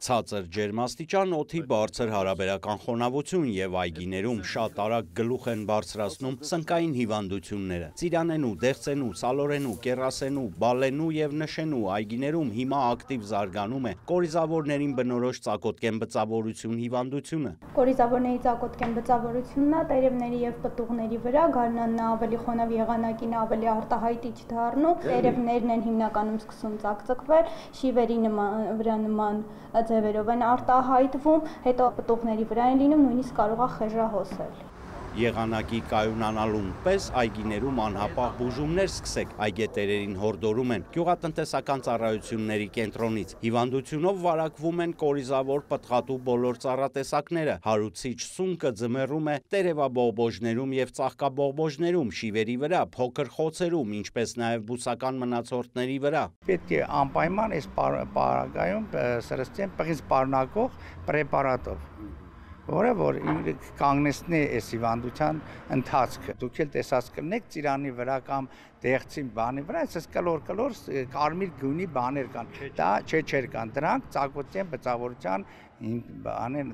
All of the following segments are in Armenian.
Ցածր ջերմաստիճան, օդի բարձր հարաբերական խոնավություն եւ այգիներում շատ արագ գլուխ են բարձրացնում սնկային հիվանդությունները։ Ծիրանենու, դեղցենու, սալորենու, կեռասենու, բալենու եւ նշենու այգիներում հիմա ակտիվ զարգանում է կորիզավորներին բնորոշ ծակոտկեն բծավորություն հիվանդությունը։ Կորիզավորների ծակոտկեն բծավորությունն է տերևների եւ պտուղների վրա, գարնանն ավելի խոնավ, եղանակին ավելի արտահայտիչ դառնում, տերևներն են հիմնականում սկսում ծակծկվել, շիվերի նման ձևերով են արտահայտվում, հետո պտուղների վրա են լինում, նույնիսկ կարող է խեժահոսել։ Եղանակի կայունանալուն պես այգիներում անհապաղ բուժումներ սկսեք, այգետերերին հորդորում են գյուղատնտեսական ծառայությունների կենտրոնից։ Հիվանդությունով վարակվում են կորիզավոր պտղատու բոլոր ծառատեսակները, հարուցիչ սունկը ձմեռում է տերևաբողբոջներում եւ ծաղկաբողբոջներում, շիվերի վրա, փոքր խոցերում, ինչպես նաեւ բուսական մնացորդների վրա։ Պետք է անպայման այս պարագայում սրսկեն պղից պարունակող պրեպարատով, որը որ կանգնեցնի այս հիվանդության ընթացքը։ Դուք էլ տեսած կլինեք ծիրանի վրա կամ դեղցի բանի վրա, այսպես կլոր կարմիր գույնի բաներ կան։ Դա չէր կան, դրանք ծակոտկեն բծավորության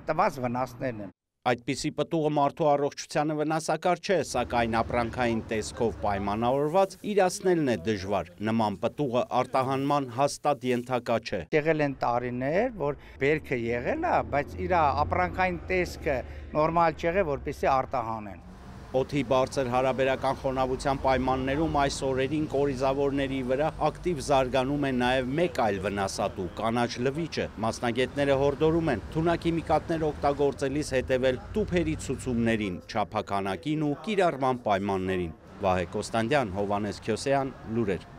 տված վնասներն են։ Այդպիսի պտուղը մարդու առողջությանը վնասակար չէ, սակայն ապրանքային տեսքով պայմանավորված իրացնելն է դժվար։ Նման պտուղը արտահանման հաստատ ենթակա չէ։ Եղել են տարիներ, որ բերքը եղել է, բայց իր ապրանքային տեսքը նորմալ չեղել, որպեսզի արտահանեն։ Օդի բարձր հարաբերական խոնավության պայմաններում այս օրերին կորիզավորների վրա ակտիվ զարգանում է նաև մեկ այլ վնասատու՝ կանաչ լվիճը։ Մասնագետները հորդորում են թունաքիմիկատներ օգտագործելիս հետևել տուփերի ցուցումներին, չափաքանակին ու կիրառման պայմաններին։ Վահե Կոստանդյան, Հովհաննես Քյոսեյան, լուրեր։